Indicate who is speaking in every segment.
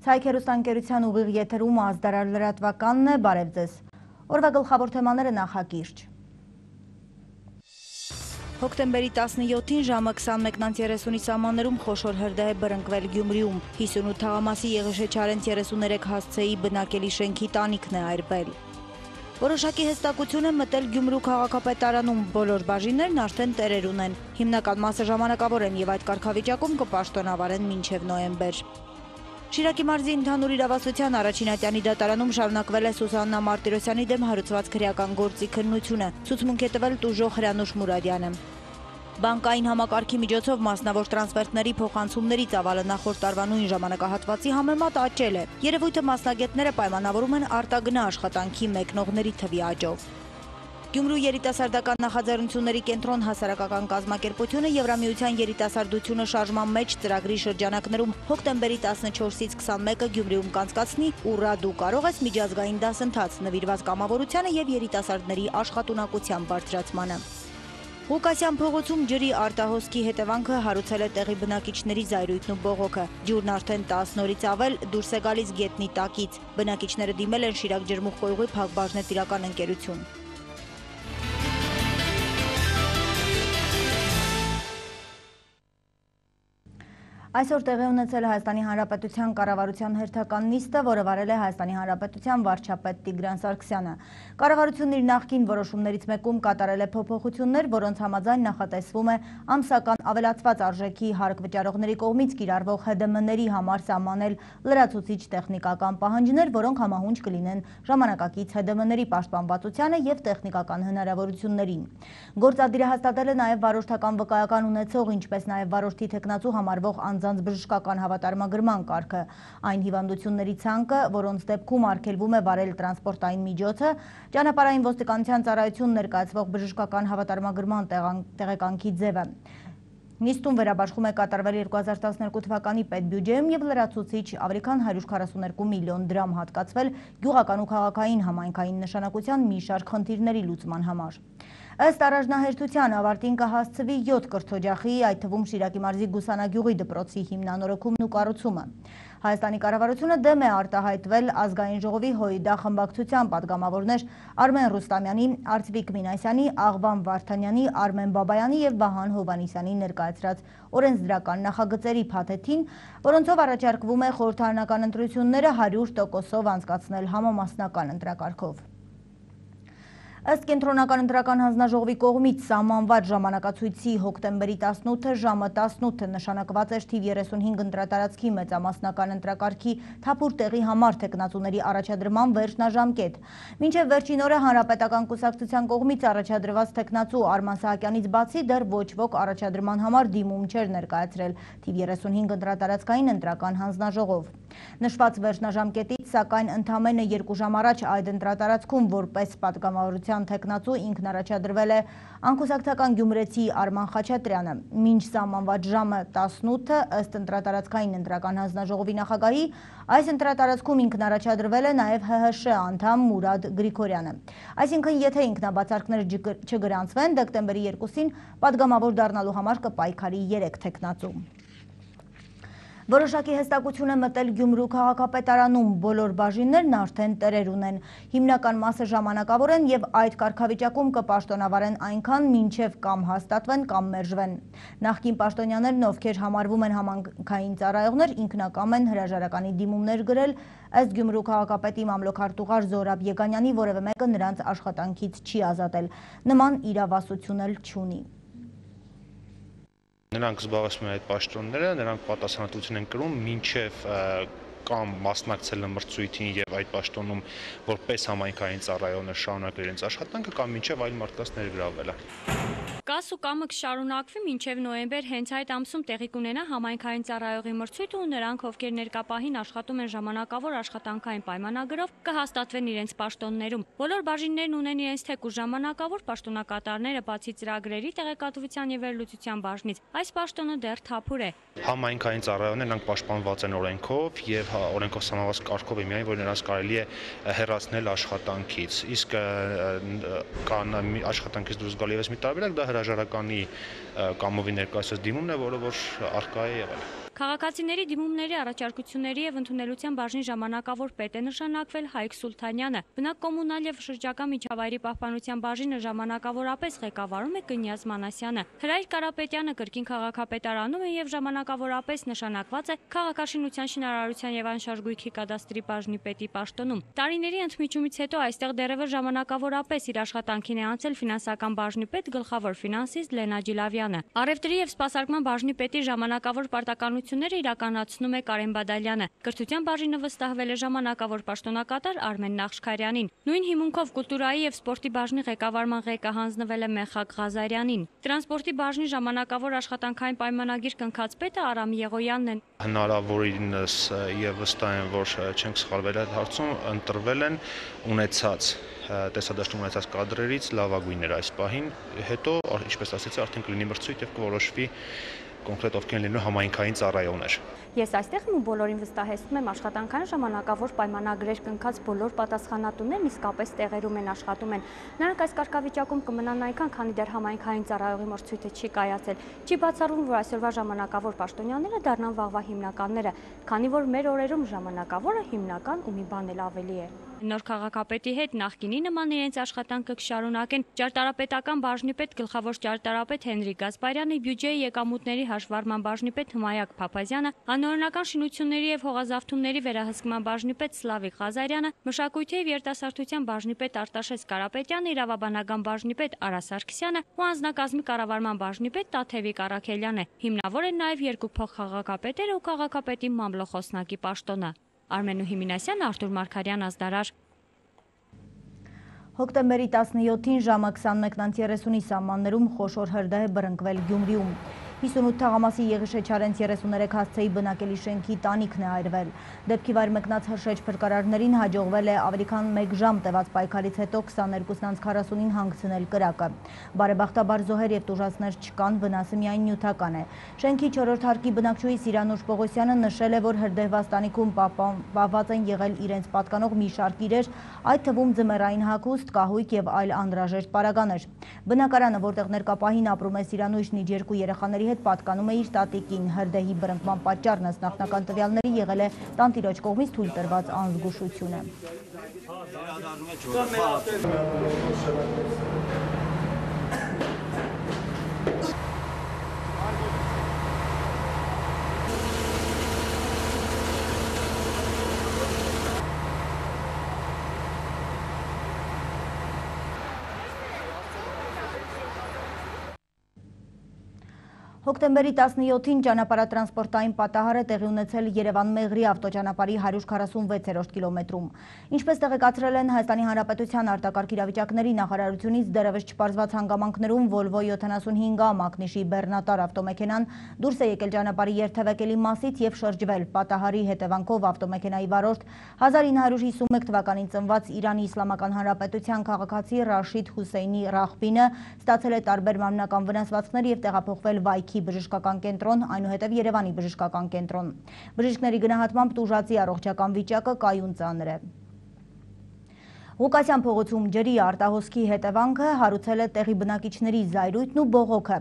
Speaker 1: Ցայք հեռուստաընկերության ուղիղ եթերում ազդարար լրատվականն է, բարև ձեզ։ Օրվա գլխավոր թեմաները նախակիրճ։ Հոկտեմբերի 17-ին ժամը 21:30-ի սահմաններում խոշոր հրդեհ է բռնկվել Գյումրիում։ 58 թաղամասի Եղիշե Չարենց 33 հասցեի բնակելի շենքի տանիքն է այրվել։ Որոշակի հստակություն է մտել Գյումրու քաղաքապետարանում, բոլոր բաժիններն արդեն տերեր ունեն։ Հիմնական մասը ժամանակավոր են եւ այդ կարգավիճակում կպաշտոնավարեն մինչեւ նոյեմբեր։ Շիրակի մարզի ընդհանուր իրավասության առաջին ատյանի դատարանում շարունակվել է Սուսաննա Մարտիրոսյանի դեմ հարուցված քրեական գործի քննությունը։ Ցուցմունք է տվել տուժող Հրանուշ Մուրադյանը։ Բանկային համակարգի միջոցով մասնավոր տրանսֆերտների փոխանցումների ծավալը նախորդ տարվա նույն ժամանակահատվածի համեմատ աճել է։ Երևույթը մասնագետները պայմանավորում են արտագնա աշխատանքի մեկնողների թվի աճով։ Գյումրու երիտասարդական նախաձեռնությունների կենտրոն հասարակական կազմակերպությունը Եվրամիության երիտասարդությունը շարժման մեջ ծրագրի շրջանակներում հոկտեմբերի 14-ից 21-ը Գյումրիում կանցկացնի «Ուռա դու կարող ես» միջազգային դասընթաց նվիրված կամավորությանը եւ երիտասարդների աշխատունակության բարձրացմանը։ Ղուկասյան փողոցում ջրի արտահոսքի հետևանքը հարուցել է տեղի բնակիչների զայրույթն ու բողոքը։ Ջուրն արդեն 10 օրից ավել դուրս է գալիս գետնի տակից։ Բնակիչները դիմել են Շիրակ ջրմուղկոյուղի Փակbaşնետիրական ընկերություն։ Այսօր տեղի ունեցել Հայաստանի Հանրապետության կառավարության հերթական նիստը, որը վարել է Հայաստանի Հանրապետության վարչապետ Տիգրան Սարգսյանը։ Կառավարությունն իր նախկին որոշումներից մեկում կատարել է փոփոխություններ, որոնց համաձայն նախատեսվում է ամսական ավելացված արժեքի հարկ վճարողների կողմից կիրառվող ՀԴՄ-ների համար սահմանել լրացուցիչ տեխնիկական պահանջներ, որոնք համահունչ կլինեն ժամանակակից ՀԴՄ-ների պաշտպանվածությանը եւ տեխնիկական հնարավորություններին։ Գործադիրը հաստատել է նաեւ վարորդական վկայական ունեցող, ինչպես նաեւ վարորդի թեկնածու համարվող անձանց բժշկական հավատարմագրման կարգը, այն հիվանդությունների ցանկը, որոնց դեպքում արգելվում է վարել տրանսպորտային միջոցը, ճանապարհային ոստիկանության ծառայություն ներկայացվող բժշկական հավատարմագրման տեղեկանքի ձևը։ Նիստում վերաբաշխում է կատարվել 2012 թվականի պետբյուջեում եւ լրացուցիչ ավելի քան 142 միլիոն դրամ հատկացվել գյուղական ու քաղաքային համայնքային նշանակության մի շարք խնդիրների լուծման համար։ Ըստ առաջնահերթության ավարտին կհասցվի 7 կրթօջախի, այդ թվում Շիրակի մարզի Գուսանագյուղի դպրոցի հիմնանորոգումն ու կառուցումը։ Հայաստանի կառավարությունը դեմ է արտահայտվել ազգային ժողովի ՀՅԴ խմբակցության падգամավորներ Արմեն Ռուստամյանի, Արծվիկ Մինասյանի, Աղվան Վարդանյանի, Արմեն Բաբայանի եւ Վահան Հովանիսյանի ներկայացրած օրենսդրական նախագծերի փաթեթին, որոնցով առաջարկվում է խորհրդարանական ընտրությունները 100%-ով անցկացնել համամասնական ընտրակարգով։ Ըստ կենտրոնական ընտրական հանձնաժողովի կողմից սահմանված ժամանակացույցի հոկտեմբերի 18-ը ժամը 18-ը նշանակված էր թիվ 35 ընտրատարածքի մեծամասնական ընտրակարգի թափուր տեղի համար թեկնածուների առաջադրման վերջնաժամկետ։ Մինչև վերջին օրը հանրապետական կուսակցության կողմից առաջադրված թեկնածու Արման Սահակյանից բացի դեռ ոչ ոք առաջադրման համար դիմում չէր ներկայացրել թիվ 35 ընտրատարածքային ընտրական հանձնաժողով։ Նշված վերջնաժամկետից սակայն ընդամենը 2 ժամ առաջ այդ ընտրատարածքում որպես падգամավորության թեկնածու ինքն առաջադրվել է անկուսակցական գյումրեցի Արման Խաչատրյանը։ Մինչ սահմանված ժամը 18-ը ըստ ընտրատարածքային ընտրական հանձնաժողովի նախագահի այս ընտրատարածքում ինքն առաջադրվել է նաև ՀՀՇ անդամ Մուրադ Գրիգորյանը։ Այսինքն եթե ինքնաբացարկներ չգրանցվեն, դեկտեմբերի 2-ին падգամավոր դառնալու համար կպայքարի 3 թեկնածու։ Որոշակի հստակություն է մտել Գյումրու քաղաքապետարանում, բոլոր բաժիններն արդեն տերեր ունեն։ Հիմնական մասը ժամանակավոր են եւ այդ կարգավիճակում կպաշտոնավարեն այնքան, մինչեւ կամ հաստատվեն կամ մերժվեն։ Նախկին պաշտոնյաներն, ովքեր համարվում են համայնքային ծառայողներ, ինքնակամ են հրաժարականի դիմումներ գրել, ըստ Գյումրու քաղաքապետի մամլոքարտուղար Զորաբ Եգանյանի որևէ մեկը նրանց աշխատանքից չի ազատել։ Նման իրավասություն էլ չունի։
Speaker 2: Նրանք զբաղեցնում են այդ պաշտոնները, նրանք պատասխանատվություն են կրում մինչև կամ մասնակցել մրցույթին եւ այդ պաշտոնում որպես համայնքային ծառայողներ շարունակել իրենց աշխատանքը կամ մինչև այլ մարդկանց ներգրավելը։
Speaker 3: Կաս ու կամը կշարունակվի մինչև նոյեմբեր, հենց այդ ամսում տեղի կունենա համայնքային ծառայողի մրցույթը ու նրանք, ովքեր ներկապահին աշխատում են ժամանակավոր աշխատանքային պայմանագրով, կհաստատվեն իրենց պաշտոններում։ Բոլոր բաժիններն ունեն իրենց թեկուզ ժամանակավոր պաշտոնակատարները, բացի ծրագրերի տեղեկատվության եւ վերլուծության բաժնից։ Այս պաշտոնը դեռ թափուր է։
Speaker 2: Համայնքային ծառայողները նրանք պաշտպանված են օրենքով եւ օրենքով սահմանված կարգով է միայն, որ նրանց կարելի է հեռացնել աշխատանքից։ Իսկ կան աշխատանքից դուրս գալու եւս մի տարբերակ, դա հրաժարականի կամովի ներկայացած դիմումն է, որը որ առկա է եղել։
Speaker 3: Քաղաքացիների դիմումների առաջարկությունների եւ ընդունելության բաժնի ժամանակավոր պետ է նշանակվել Հայկ Սուլթանյանը։ Բնակ կոմունալ եւ շրջակա միջավայրի պահպանության բաժինը ժամանակավորապես ղեկավարում է Կնյազ Մանասյանը։ Հրայր Կարապետյանը կրկին քաղաքապետարանում է եւ ժամանակավորապես նշանակված է քաղաքաշինության, շինարարության եւ անշարժ գույքի կադաստրի բաժնի պետի պաշտոնում։ Տարիների ընդմիջումից հետո այստեղ դեռևս ժամանակավորապես իր աշխատանքին է անցել ֆինանսական բաժնի պետ գլխավոր ֆինանսիստ Լենա Ջիլավյանը։ Առևտրի եւ սպասարկման բաժնի պետի ժամանակավոր պարտականությունները իրականացնում է Կարեն Բադալյանը։ Կրթության բաժինը վստահվել է ժամանակավոր պաշտոնակատար Արմեն Նախշքարյանին։ Նույն հիմունքով կուլտուրայի եւ սպորտի բաժնի ղեկավարման ղեկը հանձնվել է Մեխակ Ղազարյանին։ Տրանսպորտի բաժնի ժամանակավոր աշխատանքային պայմանագիր կնքած պետը Արամ Եղոյանն է։
Speaker 2: Հնարավորինս եւ վստահ եմ, որ չենք սխալվել այդ հարցում, ընտրվել են ունեցած տեսադաշտում ունեցած կադրերից լավագույններ այս պահին, հետո, ինչպես ասեցի, արդեն կլինի մրցույթ եւ կորոշվի կոնկրետ ովքեր լինելու համայնքային ծառայողներ։
Speaker 3: Ես այստեղ ու բոլորին վստահեցնում եմ աշխատանքային ժամանակավոր պայմանագրեր կնքած բոլոր պատասխանատուներն իսկապես տեղերում են աշխատում են։ Նրանք այս կարգավիճակում կմնան այնքան, քանի դեռ համայնքային ծառայողի մրցույթը չի կայացել։ Չի բացառվում, որ այսօրվա ժամանակավոր պաշտոնյաները դառնան վաղվա հիմնականները, քանի որ մեր օրերում ժամանակավորը հիմնական ու մի բան էլ ավելի է։ Նոր քաղաքապետի հետ նախկինի նման իրենց աշխատանքը կշարունակեն ճարտարապետական բաժնի պետ գլխավոր ճարտարապետ Հենրիկ Գասպարյանը, բյուջեի եկամուտների հաշվառման բաժնի պետ Հմայակ Փափազյանը, անօրինական շինությունների եւ հողազավթումների վերահսկման բաժնի պետ Սլավիկ Ղազարյանը, մշակույթի եւ երիտասարդության բաժնի պետ Արտաշես Կարապետյանը, իրավաբանական բաժնի պետ Արա Սարգսյանը ու անձնակազմի կառավարման բաժնի պետ Տաթևիկ Առաքելյանը։ Հիմնավոր են նաեւ երկու փոխխաղաղապետերը ու քաղաքապետի մամլոխոսնակի պաշտոնը։ Արմենուհի Մինասյան, Արտուր Մարգարյան, Ազդարար։
Speaker 1: Հոկտեմբերի 17-ին ժամը 21:30-ի սահմաններում խոշոր հրդեհ է բռնկվել Գյումրիում։ 58 թաղամասի Եղիշե Չարենց 33 հասցեի բնակելի շենքի տանիքն է այրվել։ Դեպքի վայր մեկնած հրշեջ փրկարարներին հաջողվել է ավելի քան 1 ժամ տևած պայքարից հետո 22:40-ին հանգցնել կրակը։ Բարեբախտաբար զոհեր եւ տուժածներ չկան, վնասը միայն նյութական է։ Շենքի 4-րդ հարկի բնակչուհի Սիրանուշ Պողոսյանը նշել է, որ հրդեհված տանիքում պահված են եղել իրենց պատկանող մի շարք իրեր, այդ թվում ձմեռային հագուստ, կահույք եւ այլ անհրաժեշտ պարագաներ։ Բնակարանը, որտեղ ներկապահին ապրում է Սիրանուշն իր 2 երեխաների հետ, պատկանում է իր տատիկին։ Հրդեհի բռնկման պատճառն ըստ նախնական տվյալների եղել է տանտիրոջ կողմից թույլ տրված անզգուշությունը։ Հոկտեմբերի 17-ին ճանապարհատրանսպորտային պատահար է տեղի ունեցել Երևան-Մեղրի ավտոճանապարհի 146-րդ կիլոմետրում։ Ինչպես տեղեկացրել են Հայաստանի Հանրապետության արտակարգ իրավիճակների նախարարությունից, դեռևս չպարզված հանգամանքներում Volvo 75A մակնիշի բեռնատար ավտոմեքենան դուրս է եկել ճանապարհի երթևեկելի մասից եւ շրջվել։ Պատահարի հետևանքով ավտոմեքենայի վարորդ 1951 թվականին ծնված Իրանի Իսլամական Հանրապետության քաղաքացի Ռաշիդ Հուսեյնի Ռախբինը ստացել է տարբեր մարմնական վնասվածքներ եւ տեղափոխվել Վայքի բժշկական կենտրոն, այնուհետև Երևանի բժշկական կենտրոն։ Բժիշկների գնահատմամբ տուժածի առողջական վիճակը կայուն ծանր է։ Ղուկասյան փողոցում ջրի արտահոսքի հետևանքը հարուցել է տեղի բնակիչների զայրույթն ու բողոքը։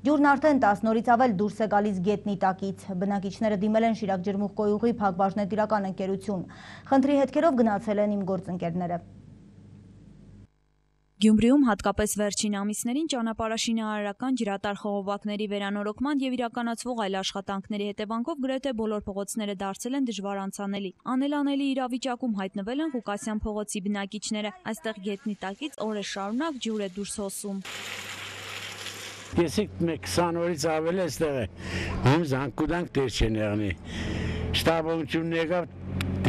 Speaker 1: Ջուրն արդեն 10 օրից ավել դուրս է գալիս գետնի տակից։ Բնակիչները դիմել են Շիրակ ջրմուղկոյուղի փակbaşնետիրական ընկերություն։ Խնդրի հետքերով գնացել են իմ գործընկերները։
Speaker 4: Գյումրիում հատկապես վերջին ամիսներին ճանապարհաշինարարական ջրատար խողովակների վերանորոգման եւ իրականացվող այլ աշխատանքների հետևանքով գրեթե բոլոր փողոցները դարձել են դժվար անցանելի։ Անելանելի իրավիճակում հայտնվել են Ղուկասյան փողոցի բնակիչները։ Այստեղ գետնի տակից օրեր շարունակ ջուր է դուրս հոսում։
Speaker 5: Ես 20 օրից ավել այստեղ է։ Ում զանգուդանք դեր չեն եղնի։ Շտաբողությունն եկավ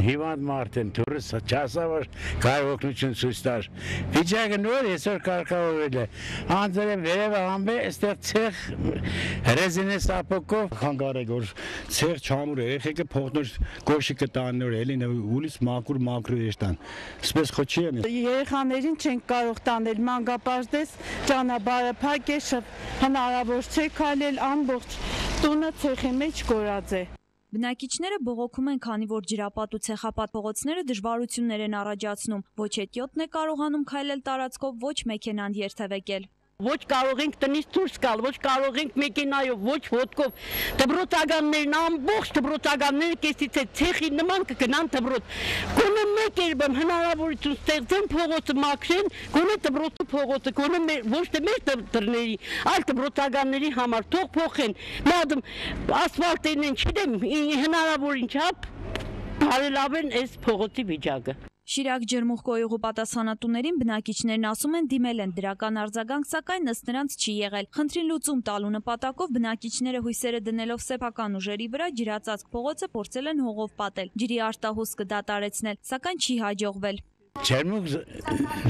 Speaker 5: հիվանդ մարդ են, դուրս չասավոր կարող օգնություն ցույց տար։ Վիճակը նոր այսօր կարգավորվել է։ Անձերը վերևը համբե, այստեղ ցեղ ռեզինե սապոկով խանգարեք, որ ցեղ չամուր է, եղեքը փողնոր գոշի կտան նոր էլի ուլից մակուր եշտան։ Սպես խոչի են։
Speaker 6: Երեխաներին չենք կարող տանել, մանկապարտեզ ճանապարհը փակ է, հնարավոր չէ քայլել, ամբողջ տունը ցեխի մեջ կորած է։
Speaker 4: Բնակիչները բողոքում են, քանի որ ջրապատ ու ցեխապատ փողոցները դժվարություններ են առաջացնում։ Ոչ հետիոտն է կարողանում քայլել տարածքով, ոչ մեքենան երթևեկել։
Speaker 7: Ոչ կարող ենք տնից դուրս գալ, ոչ կարող ենք մեքենայով, ոչ ոտքով։ Դպրոցականներն ամբողջ դպրոցականները կեսից է ցեխի նման կգնան դպրոց։ Գոնե մեկ երբեմ հնարավորություն ստեղծեն փողոցը մաքրեն, գոնե դպրոցի փողոցը, գոնե ոչ թե մեր դռների, այլ դպրոցականների համար թող փոխեն։ Մադամ ասֆալտերն են, չգիտեմ, հնարավորին չափ բարելավեն այս փողոցի վիճակը։
Speaker 4: Շիրակ ջերմուխկոյուղու պատասխանատուներին բնակիչներն ասում են դիմել են դրական արձագանք, սակայն ըստ նրանց չի եղել։ Խնդրին լուծում տալու նպատակով բնակիչները հույսերը դնելով սեփական ուժերի վրա ջրածածկ փողոցը փորձել են հողով պատել, ջրի արտահոսքը դադարեցնել, սակայն չի հաջողվել։
Speaker 5: Ջերմուկ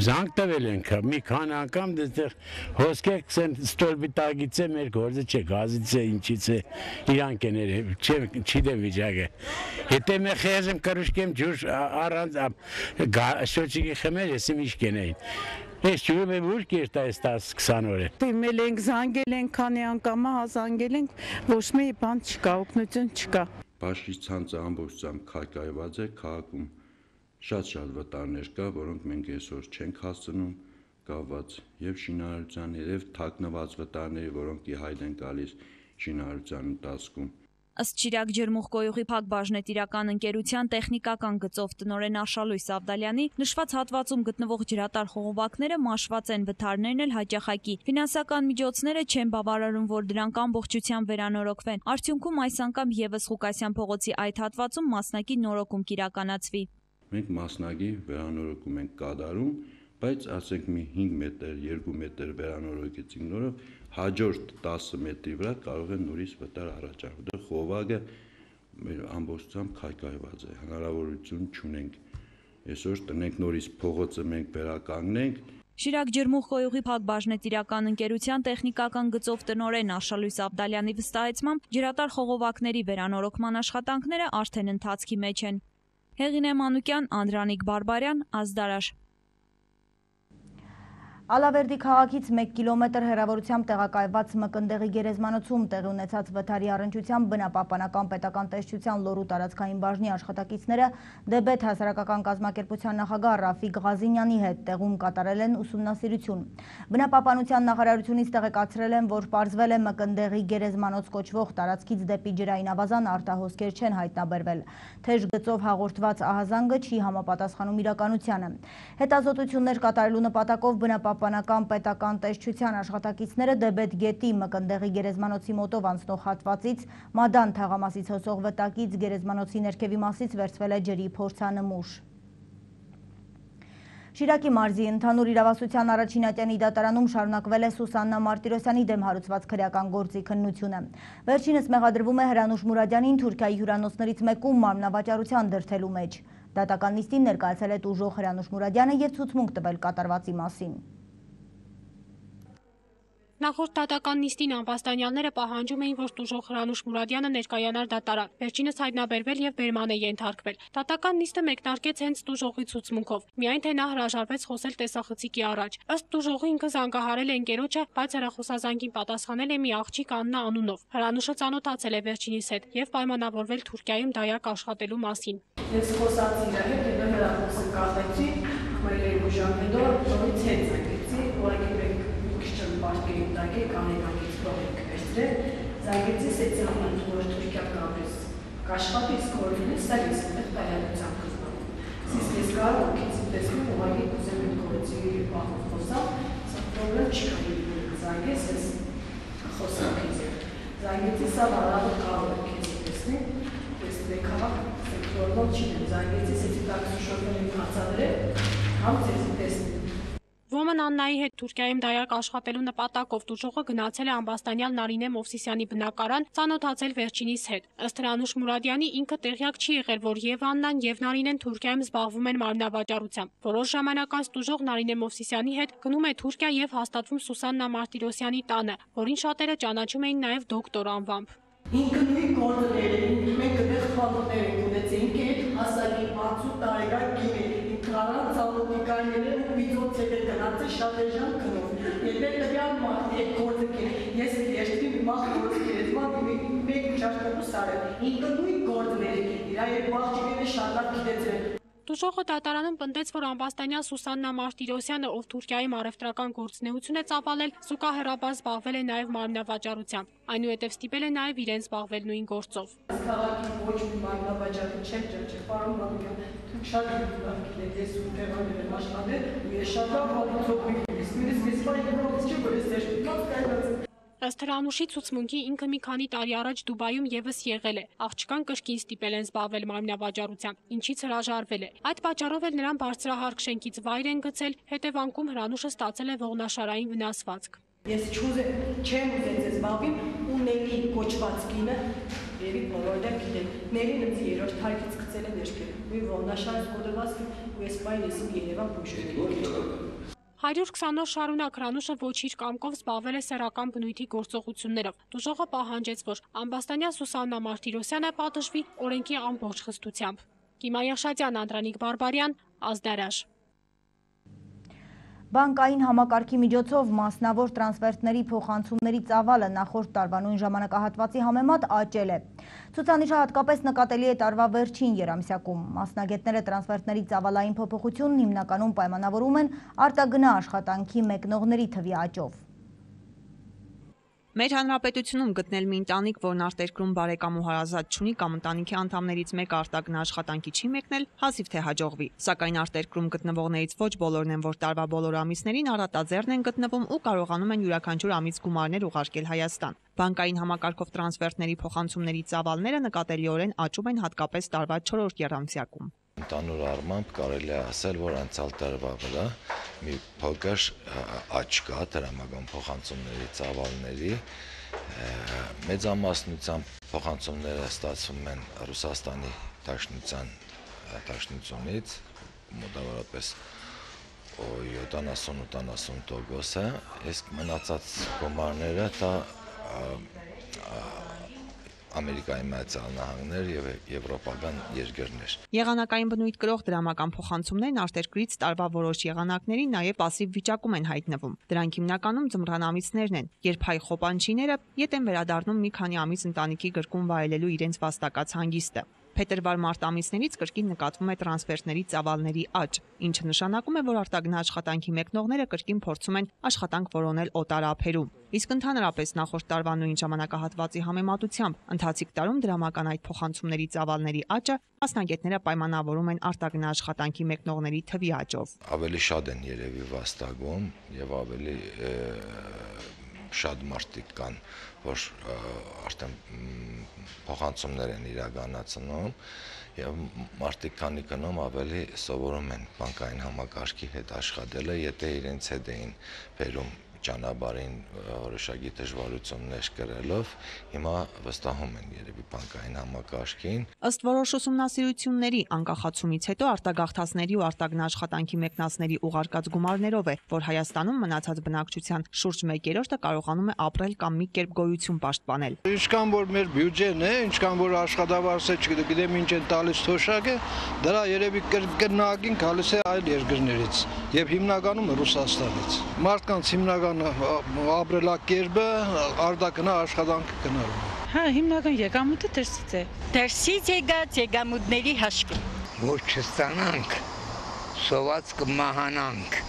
Speaker 5: զանգ տվել ենք, մի քանի անգամ դեռ հոսքեր ստորբի տագից է մեր գործը չէ, գազից է, ինչից է, իրանք են չի դեմ վիճակը։ Եթե մե խեզեմ կրուշկեմ ջուր առանց շոչիկի խմել, եսի միշ կենեին։ Ես ջուրը մեր ուր կերտ այս 10-20 օր է։
Speaker 6: Դիմել ենք, զանգել ենք, քանի անգամ զանգել ենք, ոչ մի բան չկա, օգնություն չկա։
Speaker 8: Բաշխի ցանցը ամբողջությամբ քայքայված է, քաղաքում շատ վտարներ կա, որոնք մենք այսօր չենք հասցնում կապված եւ շինարարության եւ թաքնված վտարների, որոնք ի հայտ են գալիս շինարարության ընթացքում։
Speaker 4: Ըստ Շիրակ ջերմուխկոյուղի Փակ բաժնետիրական ընկերության տեխնիկական գծով տնօրեն Աշալույս Ավդալյանի նշված հատվածում գտնվող ջրատար խողովակները մաշված են, վթարներն էլ հաճախակի։ Ֆինանսական միջոցները չեն բավարարում, որ դրանք ամբողջությամբ վերանորոգվեն։ Արդյունքում այս անգամ եւս Ղուկասյան փողոցի այդ հատվածում մասնակի նորոգում կիրականացվի։
Speaker 8: Մենք մասնակի վերանորոգում ենք կատարում, բայց ասենք մի 5 մետր, 2 մետր վերանորոգեցինք նորով, հաջորդ 10 մետրի վրա կարող է նորից վտար առաջարկվել։ Դա խողովակը մեր ամբողջությամբ քայքայված է, հնարավորություն չունենք այսօր տնենք նորից փողոցը մենք վերականգնենք։
Speaker 4: Շիրակ ջերմուխկոյուղի Փակ բաժնետիրական ընկերության տեխնիկական գծով տնօրեն Աշալույս Ավդալյանի վստահեցմամբ ջրատար խողովակների վերանորոգման աշխատանքները արդեն ընթացքի մեջ են։ Հեղինե Մանուկյան, Անդրանիկ Բարբարյան, Ազդարաշ։
Speaker 1: Ալավերդի քաղաքից 1 կիլոմետր հեռավորությամբ տեղակայված Մկնդեղի գերեզմանոցում տեղի ունեցած վթարի առնչությամբ բնապահպանական պետական տեսչության Լոռու տարածքային բաժնի աշխատակիցները Դեբեթ հասարակական կազմակերպության նախագահ Ռաֆիկ Ղազինյանի հետ տեղում կատարել են ուսումնասիրություն։ Բնապահպանության նախարարությունից տեղեկացրել են, որ պարզվել է Մկնդեղի գերեզմանոց կոչվող տարածքից դեպի ջրային ավազան արտահոսքեր չեն հայտնաբերվել։ Թեժ գծով հաղորդված ահազանգը չի համապատասխանում իրականությանը։ Հետազոտություններ կատարելու նպատակով բնապահպանական պետական տեսչության աշխատակիցները Դեբեթ գետի Մկնդեղի գերեզմանոցի մոտով անցնող հատվածից Մադան թաղամասից հոսող վտակից գերեզմանոցի ներքևի մասից վերցվել է ջրի փորձանմուշ։ Շիրակի մարզի ընդհանուր իրավասության առաջինատյանի դատարանում շարունակվել է Սուսաննա Մարտիրոսյանի դեմ հարուցված քրեական գործի քննությունը։ Վերջինս մեղադրվում է Հրանուշ Մուրադյանին Թուրքիայի հյուրանոցներից մեկում մարմնավաճառության դրդելու մեջ։ Դատական նիստին ներկայացել է տուժող Հրանուշ Մուրադյանը և ցուցմունք տվել կատարվածի մասին։
Speaker 9: Նախորդ դատական նիստին անվաստանյալները պահանջում էին, որ տուժող Հրանուշ Մուրադյանը ներկայանար դատարան, վերջինս հայտնաբերվել և բերման է ենթարկվել։ Դատական նիստը մեկնարկեց հենց տուժողի ցուցմունքով, միայն թե նա հրաժարվեց խոսել տեսախցիկի առաջ։ Ըստ տուժողի ինքը զանգահարել է ընկերոջը, բայց հեռախոսազանգին պատասխանել է մի աղջիկ Աննա անունով։ Հրանուշը ծանոթացել է վերջինիս հետ և պայմանավորվել Թուրքիայում դայակ աշխատելու մասին։
Speaker 10: Ես խոսացի իր հետ և հեռախոսը կախեցի, մեր երկու ժամ հետո նորից հետ զանգեցի, որակի Պարկերի տակի կանեկակից պողիկ վերցրել, զանգեցի սեցիանան, որ Թուրքիա կապես կաշխատի սկորվինես, սա ես հետեղ տայալության կզբանում։ Սիս ես կարող կեցի տեսնում, ուղագի կուզեմ իմ կորեցի պահով խոսալ, սա պրոբլեմ չկա զանգես ես խոսակից է։ Զանգեցի սա վարավը կարող է կեցի տեսնի, ես դեկավակ սեկտորնով չինեմ, զանգեցի սեցի տակսու շորվել եմ հացադրել, համ ծեցի տեսնի։
Speaker 9: Ոմն Աննայի հետ Թուրքիայում դայակ աշխատելու նպատակով տուժողը գնացել է ամբաստանյալ Նարինե Մովսիսյանի բնակարան, ծանոթացել վերջինիս հետ։ Ըստ Հրանուշ Մուրադյանի ինքը տեղյակ չի եղել, որ և Աննան և Նարինեն Թուրքիայում զբաղվում են մարմնավաճառությամբ։ Որոշ ժամանակ անց տուժող Նարինե Մովսիսյանի հետ գնում է Թուրքիա և հաստատվում Սուսաննա Մարտիրոսյանի տանը, որին շատերը ճանաչում էին նաև դոկտոր անվամբ։
Speaker 10: Ինքը նույն գործներ էին, մենք այդտեղ խանութներ ենք ունեցինք, հասակի 60 տարեկան կին Քարան ծալոտիկայները վիդոց հետ է գնացել շատ էժան կնով։ Եթե տվյալ մարդ այդ գործը կերել, ես երկրի մախ գործ կերել, մեկ չաշկատու սարել, ինքը նույն գործներ է կերել, իր երկու աղջիկները շատ լավ գիտեցրել։
Speaker 9: Դուժողը դատարանում պնդեց, որ ամբաստանյա Սուսաննա Մարտիրոսյանը, ով Թուրքիայում առևտրական գործունեություն է ծավալել, զուգահեռաբար զբաղվել է նաև մարմնավաճառությամբ, այնուհետև ստիպել է նաև իրեն զբաղվել նույն գործով։
Speaker 10: Քաղաքի ոչ մի մարմնավաճառի չեմ ճնշել, պարոն Մամիկյան, դուք շատ լավ գիտեք, ես ուտեղաներ եմ աշխատել, ու ես շատ լավ հատուցող եմ, իսկ ես պայմանավորից չեմ, որ ես դերշտիկած կայնացեմ։
Speaker 9: Ըստ Հրանուշի ցուցմունքի ինքը մի քանի տարի առաջ Դուբայում եւս եղել է։ Աղջկան կրկին ստիպել են զբաղվել մարմնավաճառությամբ, ինչից հրաժարվել է։ Այդ պատճառով էլ նրան բարձրահարկ շենքից վայր են գցել, հետևանքում Հրանուշը ստացել է ողնաշարային վնասվածք։
Speaker 10: Ես չեմ ուզել ձեզ զբաղվի ու Նելի կոչված կինը, երևի բոլորը գիտեն, Նելին ինձ երրորդ հարկից գցել է ներքև։ Ու ողնաշար զոդված ու ես պայն ես Երևան փոշի։
Speaker 9: 120 օր շարունակ Հրանուշը ոչ իր կամքով զբաղվել է սեռական բնույթի գործողություններով։ Դուժողը պահանջեց, որ ամբաստանյա Սուսաննա Մարտիրոսյանը պատժվի օրենքի ամբողջ խստությամբ։ Կիմա Եղշատյան, Անդրանիկ Բարբարյան, Ազդարաշ։
Speaker 1: Բանկային համակարգի միջոցով մասնավոր տրանսֆերտների փոխանցումների ծավալը նախորդ տարվա նույն ժամանակահատվածի համեմատ աճել է։ Ցուցանիշը հատկապես նկատելի է տարվա վերջին երամսյակում։ Մասնագետները տրանսֆերտների ծավալային փոփոխությունն հիմնականում պայմանավորում են արտագնա աշխատանքի մեկնողների թվի աճով։
Speaker 11: Մեր հանրապետությունում գտնել մի ընտանիք, որն արտերկրում բարեկամ ու հարազատ չունի կամ ընտանիքի անդամներից մեկը արտագնա աշխատանքի չի մեկնել, հազիվ թե հաջողվի։ Սակայն արտերկրում գտնվողներից ոչ բոլորն են, որ տարվա բոլոր ամիսներին առատաձեռն են գտնվում ու կարողանում են յուրաքանչյուր ամիս գումարներ ուղարկել Հայաստան։ Բանկային համակարգով տրանսֆերտների փոխանցումների ծավալները նկատելիորեն աճում են հատկապես տարվա 4-րդ եռամսյակում։
Speaker 12: Ընդհանուր առմամբ կարելի է ասել, որ անցյալ տարվա վրա մի փոքր աճ կա տրամական փոխանցումների ծավալների, մեծամասնությամբ փոխանցումները ստացվում են Ռուսաստանի դաշնությունից, մոտավորապես 70-80%, իսկ մնացած գումարները դա Ամերիկայի Միացյալ Նահանգներ եւ եվրոպական երկրներ։
Speaker 11: Եղանակային բնույթ կրող դրամական փոխանցումներն արտերկրից տարվա որոշ եղանակների նաեւ пассив վիճակում են հայտնվում։ Դրանք հիմնականում ձմռան ամիսներն են, երբ հայ խոպանչիները ետ են վերադառնում մի քանի ամիս ընտանիքի գրկում վայելելու իրենց վաստակած հանգիստը։ Փետրվար-մարտ ամիսներից կրկին նկատվում է տրանսֆերտների ծավալների աճ, ինչը նշանակում է, որ արտագնա աշխատանքի մեկնողները կրկին փորձում են աշխատանք որոնել օտար ափերում։ Իսկ ընդհանրապես նախորդ տարվա նույն ժամանակահատվածի համեմատությամբ ընթացիկ տարում դրամական այդ փոխանցումների ծավալների աճը մասնագետները պայմանավորում են արտագնա աշխատանքի մեկնողների թվի աճով։
Speaker 12: Ավելի շատ են երևի վաստակում եւ ավելի շատ մարդիկ կան, որ արդեն փոխանցումներ են իրականացնում եւ մարդիկ քանի կնում ավելի սովորում են բանկային համակարգի հետ աշխատելը, եթե իրենց հետ էին բերում ճանապարհին որոշակի դժվարություններ կրելով, հիմա վստահում են երևի բանկային համակարգին։
Speaker 11: Ըստ որոշ ուսումնասիրությունների անկախացումից հետո արտագաղթածների ու արտագնա աշխատանքի մեկնածների ուղարկած գումարներով է, որ Հայաստանում մնացած բնակչության շուրջ 1/3-ը կարողանում է ապրել կամ մի կերպ գոյություն պաշտպանել։
Speaker 13: Ինչքան որ մեր բյուջեն է, ինչքան որ աշխատավարձը չգիտեմ ինչ են տալիս թոշակը, դրա երևի կրկնակին գալիս է այլ երկրներից եւ հիմնականում Ռուսաստանից։ Մարդկանց հիմնական ապրելակերպը արտագնա աշխատանք գնալու։
Speaker 6: Հա, հիմնական եկամուտը դրսից է։
Speaker 14: Դրսից եկած եկամուտների հաշվին։ Ոչ չստանանք, սոված կմահանանք։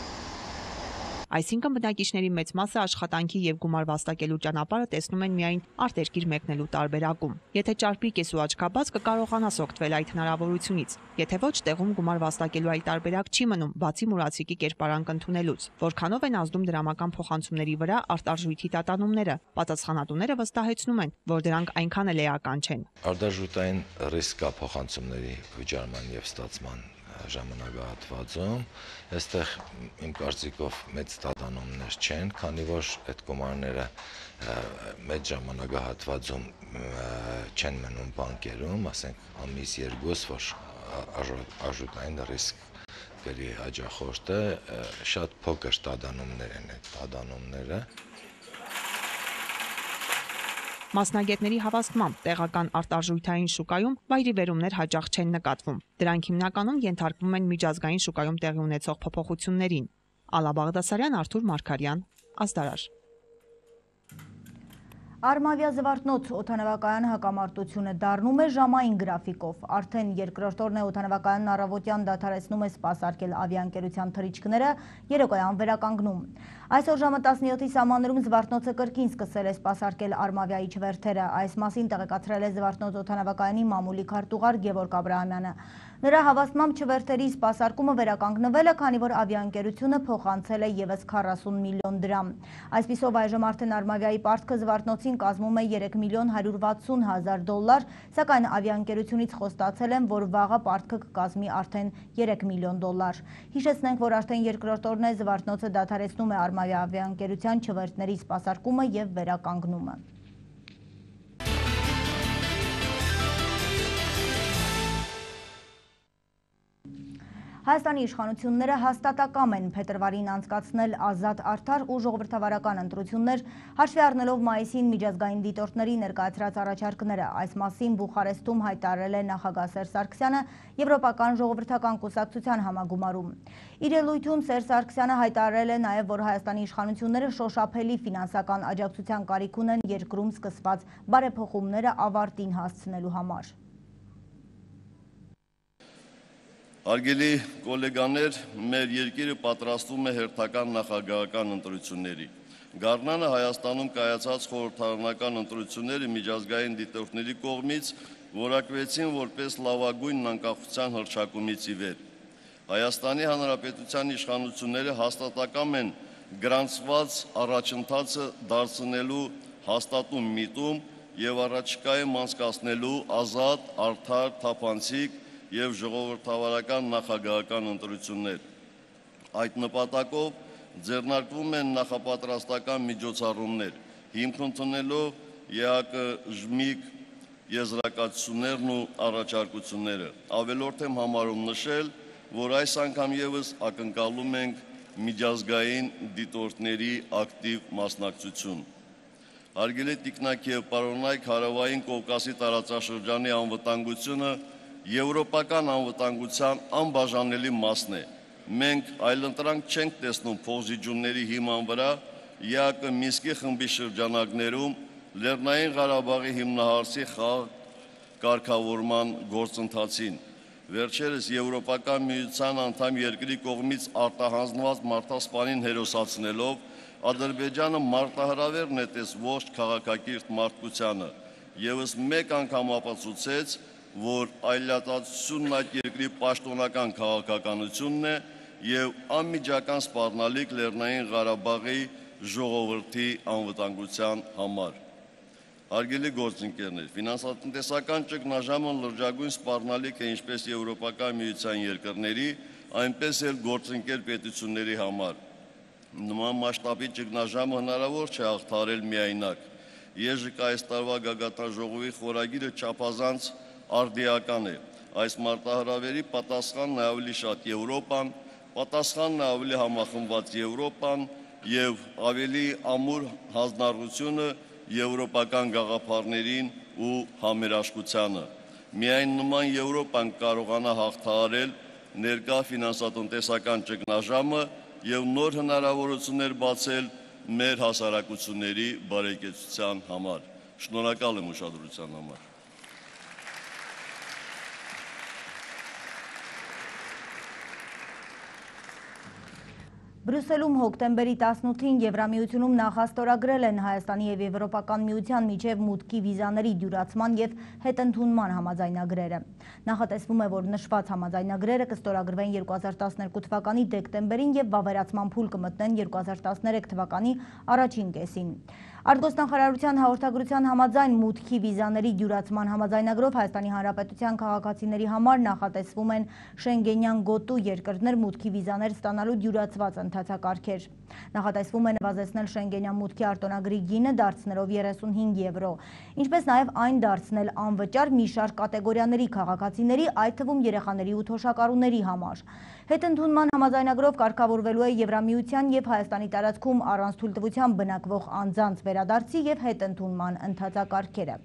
Speaker 11: Այսինքն բնակիչների մեծ մասը աշխատանքի եւ գումար վաստակելու ճանապարհը տեսնում են միայն արտերկիր մեկնելու տարբերակում։ Եթե ճարպիկ ես ու աչքաբաց կկարողանաս օգտվել այդ հնարավորությունից։ Եթե ոչ, տեղում գումար վաստակելու այլ տարբերակ չի մնում, բացի մուրացիկի կերպարանք ընդունելուց։ Որքանով են ազդում դրամական փոխանցումների վրա արտարժույթի տատանումները։ Պատասխանատուները վստահեցնում են, որ դրանք այնքան էլ էական չեն։
Speaker 12: Արտարժույթային ռիսկ կա փոխանցումների վճարման եւ ստացման ժամանակահատվածում, այստեղ իմ կարծիքով մեծ տատանումներ չեն, քանի որ այդ գումարները մեծ ժամանակահատվածում չեն մնում բանկերում, ասենք ամիս 2, որ արժութային ռիսկ կրի հաջախորդը, շատ փոքր տատանումներ են այդ տատանումները։
Speaker 11: Մասնագետների հավաստմամբ տեղական արտարժույթային շուկայում վայրիվերումներ հաճախ չեն նկատվում։ Դրանք հիմնականում ենթարկվում են միջազգային շուկայում տեղի ունեցող փոփոխություններին։ Ալա Բաղդասարյան, Արթուր Մարգարյան, Ազդարար։
Speaker 1: Արմավիա Զվարթնոց օդանավակայան հակամարտությունը դառնում է ժամային գրաֆիկով։ Արդեն երկրորդ օրն է օդանավակայանն առավոտյան դադարեցնում է սպասարկել ավիաընկերության թռիչքները, երեկոյան վերականգնում։ Այսօր ժամը 17-ի սահմաններում Զվարթնոցը կրկին սկսել է սպասարկել Արմավիայի չվերթերը։ Այս մասին տեղեկացրել է Զվարթնոց օդանավակայանի մամուլի քարտուղար Գևորգ Աբրահամյանը։ Նրա հավաստմամբ չվերթերի սպասարկումը վերականգնվել է, քանի որ ավիաընկերությունը փոխանցել է ևս 40 միլիոն դրամ։ Այսպիսով այժմ արդեն Արմավիայի պարտքը Զվարթնոցին կազմում է 3.160.000 դոլար, սակայն ավիաընկերությունից խոստացել են, որ վաղը պարտքը կկազմի արդեն 3 միլիոն դոլար։ Հիշեցնենք, որ արդեն երկրորդ օրն է Զվարթնոցը դադարեցնում է Արմավիա ավիաընկերության չվերթների սպասարկումը եւ վերականգնումը։ Հայաստանի իշխանությունները հաստատակամ են փետրվարին անցկացնել ազատ, արդար ու ժողովրդավարական ընտրություններ, հաշվի առնելով մայիսին միջազգային դիտորդների ներկայացրած առաջարկները։ Այս մասին Բուխարեստում հայտարարել է նախագահ Սերժ Սարգսյանը Եվրոպական ժողովրդական կուսակցության համագումարում։ Իր ելույթում Սերժ Սարգսյանը հայտարարել է նաև, որ Հայաստանի իշխանությունները շոշափելի ֆինանսական աջակցության կարիք ունեն երկրում սկսված բարեփոխումները ավարտին հասցնելու համար։
Speaker 15: Արգելի գոլեգաներ, մեր երկիրը պատրաստվում է հերթական նախագահական ընտրությունների։ Գարնանը Հայաստանում կայացած խորհրդարանական ընտրությունները միջազգային դիտորդների կողմից որակվեցին որպես լավագույն անկախության հռչակումից ի վեր։ Հայաստանի Հանրապետության իշխանությունները հաստատակամ են գրանցված առաջընթացը դարձնելու հաստատուն միտում եւ առաջիկայում անցկացնելու ազատ, արդար, թափանցիկ և ժողովրդավարական նախագահական ընտրություններ։ Այդ նպատակով ձեռնարկվում են նախապատրաստական միջոցառումներ, հիմք ընդունելով ԵԱԿ ԺՄԻԿ եզրակացություններն ու առաջարկությունները։ Ավելորդ եմ համարում նշել, որ այս անգամ ևս ակնկալում ենք միջազգային դիտորդների ակտիվ մասնակցություն։ Հարգելի տիկնակ և պարոնայք, Հարավային Կովկասի տարածաշրջանի անվտանգությունը եվրոպական անվտանգության անբաժանելի մասն է։ Մենք այլընտրանք չենք տեսնում փոխզիջումների հիման վրա ԵԱԿ Մինսկի խմբի շրջանակներում Լեռնային Ղարաբաղի հիմնահարցի կարգավորման գործընթացին։ Վերջերս Եվրոպական միության անդամ երկրի կողմից արտահանձնված մարդասպանին հերոսացնելով Ադրբեջանը մարտահրավեր նետեց ողջ քաղաքակիրթ մարդկությանը, ևս մեկ անգամ ապացուցեց, որ այլատացությունն այդ երկրի պաշտոնական քաղաքականությունն է և անմիջական սպառնալիք Լեռնային Ղարաբաղի ժողովրդի անվտանգության համար։ Հարգելի գործընկերներ, ֆինանսատնտեսական ճգնաժամը լրջագույն սպառնալիք է ինչպես Եվրոպական միության երկրների, այնպես էլ գործընկեր պետությունների համար։ Նման մասշտաբի ճգնաժամը հնարավոր չէ հաղթահարել միայնակ։ ԵԺԿ այս տարվա գագաթնաժողովի խորագիրը չափազանց արդիական է։ Այս մարտահրավերի պատասխանն է ավելի շատ Եվրոպան, պատասխանն է ավելի համախմբված Եվրոպան և ավելի ամուր հանձնառությունը եվրոպական գաղափարներին ու համերաշխությանը։ Միայն նման Եվրոպան կարողանա հաղթահարել ներկա ֆինանսատնտեսական ճգնաժամը և նոր հնարավորություններ բացել մեր հասարակությունների բարեկեցության համար։ Շնորհակալ եմ ուշադրության համար։
Speaker 1: Բրյուսելում հոկտեմբերի 18-ին Եվրամիությունում նախաստորագրել են Հայաստանի և Եվրոպական միության միջև մուտքի վիզաների դյուրացման և հետընդունման համաձայնագրերը։ Նախատեսվում է, որ նշված համաձայնագրերը կստորագրվեն 2012 թվականի դեկտեմբերին և վավերացման փուլ կմտնեն 2013 թվականի առաջին կեսին։ Արտգործնախարարության հաղորդագրության համաձայն մուտքի վիզաների դյուրացման համաձայնագրով Հայաստանի Հանրապետության քաղաքացիների համար նախատեսվում են Շենգենյան գոտու երկրներ մուտքի վիզաներ ստանալու դյուրացված ընթացակարգեր։ Նախատեսվում է նվազեցնել Շենգենյան մուտքի արտոնագրի գինը, դարձնելով 35 եվրո, ինչպես նաև այն դարձնել անվճար մի շարք կատեգորիաների քաղաքացիների, այդ թվում երեխաների ու թոշակառուների համար։ Հետընդունման համաձայնագրով կարգավորվելու է Եվրամիության և Հայաստանի տարածքում առանց թույլտվության բնակվող անձանց վերադարձի և հետընդունման ընթացակարգերը։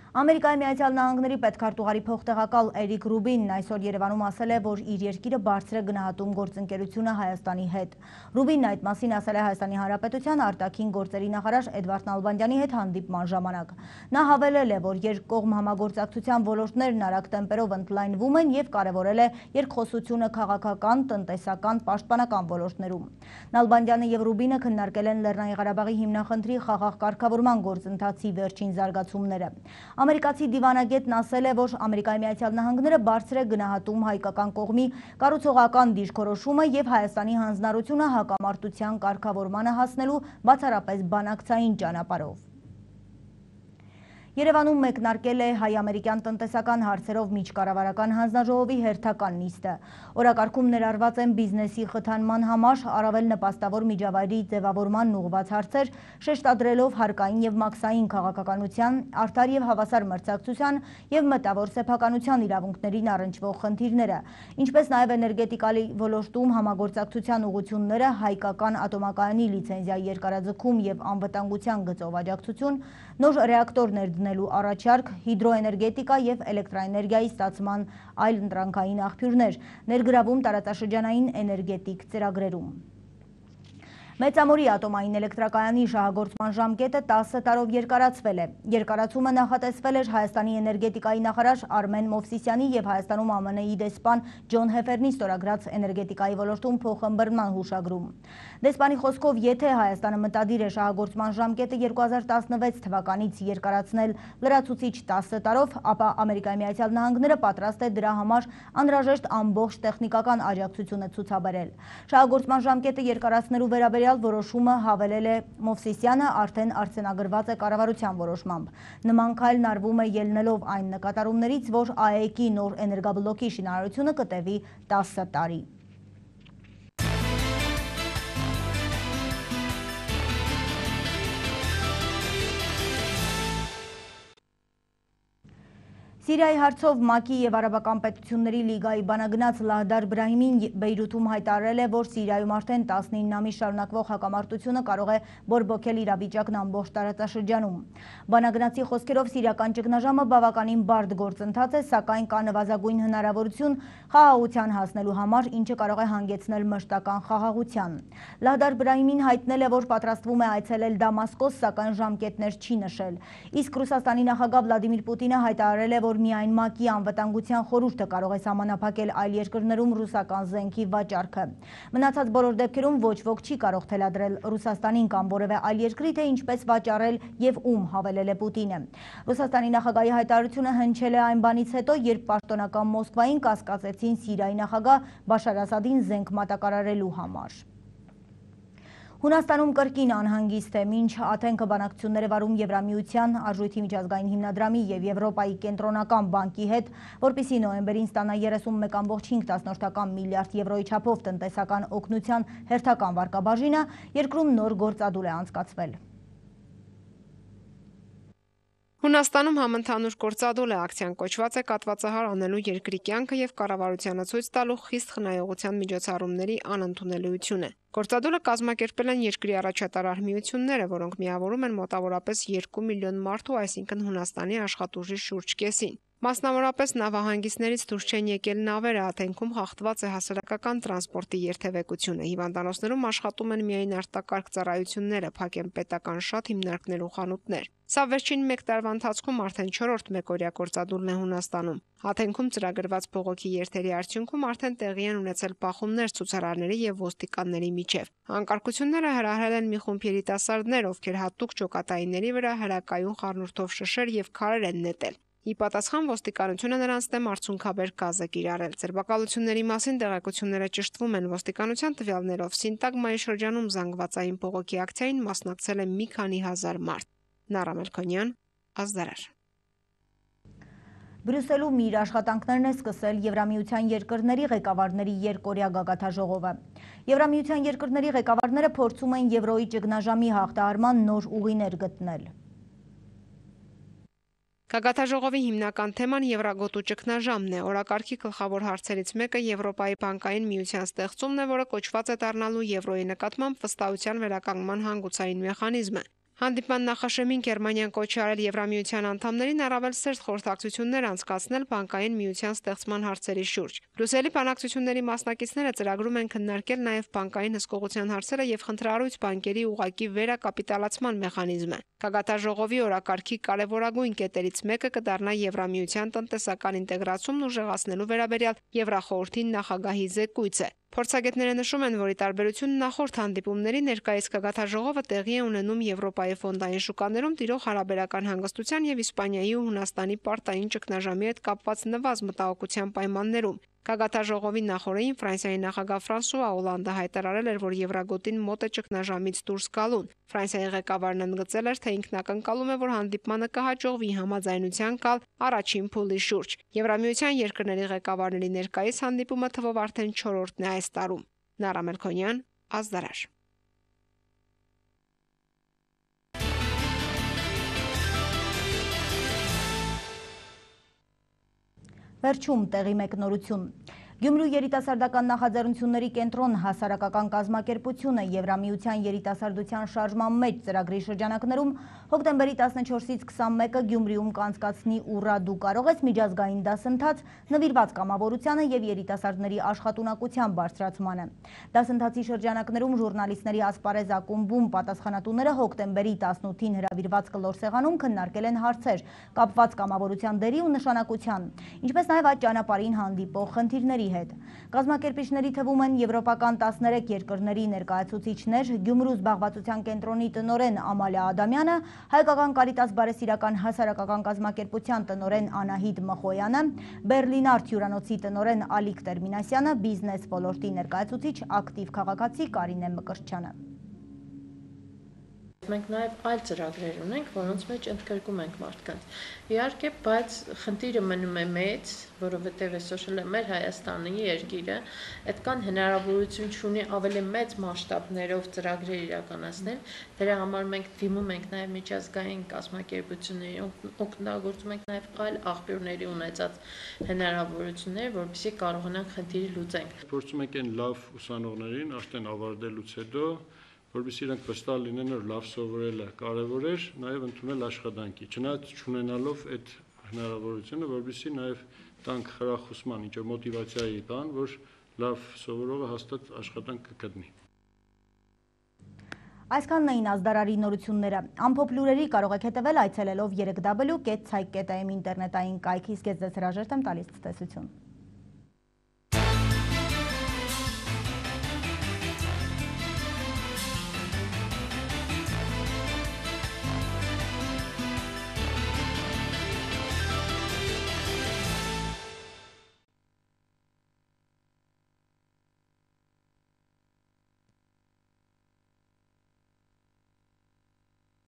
Speaker 1: Ամերիկայի Միացյալ Նահանգների պետքարտուղարի փոխտեղակալ Էրիկ Ռուբինն այսօր Երևանում ասել է, որ իր երկիրը բարձր է գնահատում գործընկերությունը Հայաստանի հետ։ Ռուբինն այդ մասին ասել է Հայաստանի Հանրապետության արտաքին գործերի նախարար Էդվարդ Նալբանդյանի հետ հանդիպման ժամանակ։ Նա հավելել է, որ երկկողմ համագործակցության ոլորտներն արագ տեմպերով ընդլայնվում են եւ կարեւորել է երկխոսությունը քաղաքական, տնտեսական, պաշտպանական ոլորտներում։ Նալբանդյանը եւ Ռուբինը քննարկել են Լեռնային Ղարաբաղի հիմնախնդրի խաղաղ կարգավորման գործընթացի վերջին զարգացումները։ Ամերիկացի դիվանագետն ասել է, որ Ամերիկայի Միացյալ Նահանգները բարձր է գնահատում հայկական կողմի կառուցողական դիրքորոշումը եւ Հայաստանի հանձնառությունը հակամարտության կարգավորմանը հասնելու բացառապես բանակցային ճանապարհով։ Երևանում մեկնարկել է հայ-ամերիկյան տնտեսական հարցերով միջկառավարական հանձնաժողովի հերթական նիստը։ Օրակարգում ներառված են բիզնեսի խթանման համար առավել նպաստավոր միջավայրի ձևավորման ուղղված հարցեր, շեշտադրելով հարկային եւ մաքսային քաղաքականության, արդար եւ հավասար մրցակցության եւ մտավոր սեփականության իրավունքներին առնչվող խնդիրները, ինչպես նաեւ էներգետիկայի ոլորտում համագործակցության ուղղությունները, հայկական ատոմակայանի լիցենզիայի երկարաձգում եւ անվտանգության գծով աջակցություն, նոր ռեակտորներ դնելու առաջարկ, հիդրոէներգետիկա եւ էլեկտրաէներգիայի ստացման այլ ընտրանքային աղբյուրներ, ներգրավում տարածաշրջանային էներգետիկ ծրագրերում։ Մեծամորի ատոմային էլեկտրակայանի շահագործման ժամկետը 10 տարով երկարացվել է։ Երկարացումը նախատեսվել էր Հայաստանի էներգետիկայի նախարար Արմեն Մովսիսյանի եւ Հայաստանում ԱՄՆ-ի դեսպան Ջոն Հեֆերնի ստորագրած էներգետիկայի ոլորտում փոխըմբռնման հուշագրում։ Դեսպանի խոսքով, եթե Հայաստանը մտադիր է շահագործման ժամկետը 2016 թվականից երկարացնել լրացուցիչ 10 տարով, ապա Ամերիկայի Միացյալ Նահանգները պատրաստ է դրա համար անհրաժեշտ ամբողջ տեխնիկական աջակցությունը ցուցաբերել։ Շահագործման ժամկետը երկարացնելու վերաբերյալ որոշումը հավելել է Մովսիսյանը արդեն արձանագրված է կառավարության որոշմամբ։ Նման քայլն արվում է ելնելով այն նկատառումներից, որ ԱԵԿ-ի նոր էներգաբլոկի շինարարությունը կտևի 10 տարի։ Սիրիայի հարցով ՄԱԿ-ի եւ Արաբական պետությունների լիգայի բանագնաց Լահդար Բրահիմին Բեյրութում հայտարարել է, որ Սիրիայում արդեն 19 ամիս շարունակվող հակամարտությունը կարող է բորբոքել իրավիճակն ամբողջ տարածաշրջանում։ Բանագնացի խոսքերով սիրիական ճգնաժամը բավականին բարդ գործընթաց է, սակայն կա նվազագույն հնարավորություն խաղաղության հասնելու համար, ինչը կարող է հանգեցնել մշտական խաղաղության։ Լահդար Բրահիմին հայտնել է, որ պատրաստվում է այցելել Դամասկոս, սակայն ժամկետներ չի նշել։ Իսկ Ռուսաստանի նախագահ Վլադիմիր Պուտինը հայտարարել է, որ միայն ՄԱԿ-ի անվտանգության խորհուրդը կարող է սահմանափակել այլ երկրներում ռուսական զենքի վաճառքը։ Մնացած բոլոր դեպքերում ոչ ոք չի կարող թելադրել Ռուսաստանին կամ որևէ այլ երկրի, թե ինչպես վաճառել եւ ում, հավելել է Պուտինը։ Ռուսաստանի նախագահի հայտարարությունը հնչել է այն բանից հետո, երբ պաշտոնական Մոսկվային կասկածեցին Սիրիայի նախագահ Բաշար Ասադին զենք մատակարարելու համար։ Հունաստանում կրկին անհանգիստ է, մինչ Աթենքը բանակցություններ է վարում Եվրամիության, Արժույթի միջազգային հիմնադրամի եւ Եվրոպայի կենտրոնական բանկի հետ, որպեսզի նոյեմբերին ստանա 31.5 միլիարդ եվրոյի չափով տնտեսական օգնության հերթական վարկաբաժինը, երկրում նոր գործադուլ է անցկացվել։
Speaker 16: Հունաստանում համընդհանուր գործադուլ է, ակցիան կոչված է կատվածահար անելու երկրի կյանքը եւ կառավարությանը ցույց տալու խիստ խնայողության միջոցառումների անընդունելիությունը։ Գործադուլը կազմակերպել են երկրի առաջատար արհմիությունները, որոնք միավորում են մոտավորապես 2 միլիոն մարդու, այսինքն Հունաստանի աշխատուժի շուրջ կեսին։ Մասնավորապես նավահանգիստներից դուրս չեն եկել նավերը, Աթենքում խախտված է հասարակական տրանսպորտի երթևեկությունը, հիվանդանոցներում աշխատում են միայն արտակարգ ծառայությունները, փակ են պետական շատ հիմնարկներ ու խանութներ։ Սա վերջին 1 տարվա ընթացքում արդեն 4-րդ մեկօրյա գործադուլն է Հունաստանում։ Աթենքում ծրագրված բողոքի երթերի արդյունքում արդեն տեղի են ունեցել բախումներ ցուցարարների եւ ոստիկանների միջև։ Անկարգությունները հրահրել են մի խումբ երիտասարդներ, ովքեր հատուկ ջոկատայինների վրա հրակայուն խառնուրդով շշեր եւ քարեր են նետել։ Ի պատասխան ոստիկանությունը նրանց դեմ արցունքաբեր գազ է կիրառել։ Ձերբակալությունների մասին տեղեկությունները ճշտվում են ոստիկանության տվյալներով։ Սինտագմայի շրջանում զանգվածային բողոքի ակցիային մասնակցել է մի քանի հազար մարդ։ Նարա Մելքոնյան, Ազդարար։
Speaker 1: Բրյուսելում իր աշխատանքներն է սկսել Եվրամիության երկրների ղեկավարների երկօրյա գագաթաժողովը։ Եվրամիության երկրների ղեկավարները փորձում են եվրոյի ճգնաժամի հաղթահարման նոր ուղիներ գտնել։
Speaker 16: Գագաթաժողովի հիմնական թեման եվրագոտու ճգնաժամն է։ Օրակարգի գլխավոր հարցերից մեկը Եվրոպայի բանկային միության ստեղծումն է, որը կոչված է դառնալու եվրոյի նկատմամբ վստահության վերականգնման հանգուցային մեխանիզմը։ Հանդիպման նախաշեմին Գերմանիան կոչ է արել Եվրամիության անդամներին առավել սերտ խորհրդակցություններ անցկացնել բանկային միության ստեղծման հարցերի շուրջ։ Բրյուսելի բանակցությունների մասնակիցները ծրագրում են քննարկել նաև բանկային հսկողության հարցերը եւ խնդրահարույց բանկերի ուղղակի վերակապիտալացման մեխանիզմը։ Գագաթաժողովի օրակարգի կարևորագույն կետերից մեկը կդառնա Եվրամիության տնտեսական ինտեգրացումն ուժեղացնելու վերաբերյալ Եվրախորհրդի նախագահի զեկույցը։ Փորձագետները նշում են, որ ի տարբերություն նախորդ հանդիպումների ներկայիս գագաթաժողովը տեղի է ունենում Եվրոպայի ֆոնդային շուկաներում տիրող հարաբերական հանգստության եւ Իսպանիայի ու Հունաստանի պարտային ճգնաժամի հետ կապված նվազ մտահոգության պայմաններում։ Գագաթաժողովի նախօրեին Ֆրանսիայի նախագահ Ֆրանսուଆ Օլանդը հայտարարել էր, որ Եվրագոտին մոտ է ճգնաժամից դուրս գալուն։ Ֆրանսիայի ղեկավարն ընդգծել էր, թե ինքն ակնկալում է, որ հանդիպմանը կհաջողվի համաձայնության գալ առաջին փուլի շուրջ։ Եվրամիության երկրների ղեկավարների ներկայիս հանդիպումը թվով արդեն 4-րդն է այս տարում։ Նարա Մելքոնյան, Ազդարար։
Speaker 1: Վերջում տեղի մեկնորություն։ Գյումրու երիտասարդական նախաձեռնությունների կենտրոն հասարակական կազմակերպությունը Եվրամիության երիտասարդության շարժման մեջ ծրագրի շրջանակներում հոկտեմբերի 14-ից 21-ը Գյումրիում կանցկացնի «Ուռա դու կարող ես» միջազգային դասընթաց նվիրված կամավորությանը եւ երիտասարդների աշխատունակության բարձրացմանը։ Դասընթացի շրջանակներում ժուրնալիստների ասպարեզ ակումբում պատասխանատուները հոկտեմբերի 18-ին հրավիրված կլոր սեղանում քննարկել են հարցեր կապված կամավորության դերի ու նշանակության, ինչպես նաեւ այդ ճանապարհին հանդիպող խնդիրների հետ։ Կազմակերպիչների թվում են եվրոպական 13 երկրների ներկայացուցիչներ, Գյումրու զբաղվածության կենտրոնի տնօրեն Ամալիա Ադամյանը, Հայկական Կարիտաս բարեսիրական հասարակական կազմակերպության տնօրեն Անահիտ Մխոյանը, Բերլինարդ հյուրանոցի տնօրեն Ալիկ Տերմինասյանը, բիզնես ոլորտի ներկայացուցիչ ակտիվ քաղաքացի Կարինե Մկրտչյանը։
Speaker 17: Մենք նաև այլ ծրագրեր ունենք, որոնց մեջ ընդգրկում ենք մարդկանց։ Իհարկե, բայց խնդիրը մնում է մեծ, որովհետև այսօր մեր Հայաստանի երկիրը այդքան հնարավորություն չունի ավելի մեծ մասշտաբներով ծրագրեր իրականացնել։ Դրա համար մենք դիմում ենք նաև միջազգային կազմակերպությունների, օգտագործում ենք նաև այլ աղբյուրների ունեցած հնարավորություններ, որպեսզի կարողանանք խնդիրը լուծենք։
Speaker 18: Փորձում ենք այն լավ ուսանողներին արդեն ավարտելուց հետո որովհետեւ իրանք վստահ լինեն, որ լավ սովորելը կարևոր է, նաև ընդունել աշխատանքի, չնայած չունենալով այդ հնարավորությունը, որովհետեւ նաև տանք խրախուսման, ինչ որ մոտիվացիայի բան, որ լավ սովորողը հաստատ աշխատանք կգտնի։
Speaker 1: Այսքանն էին ազդարարի նորությունները։ Ամփոփ լուրերի կարող եք հետևել այցելելով www.cyc.am ինտերնետային կայքի, իսկ ես ձեզ հրաժեշտ եմ տալիս ցտեսություն։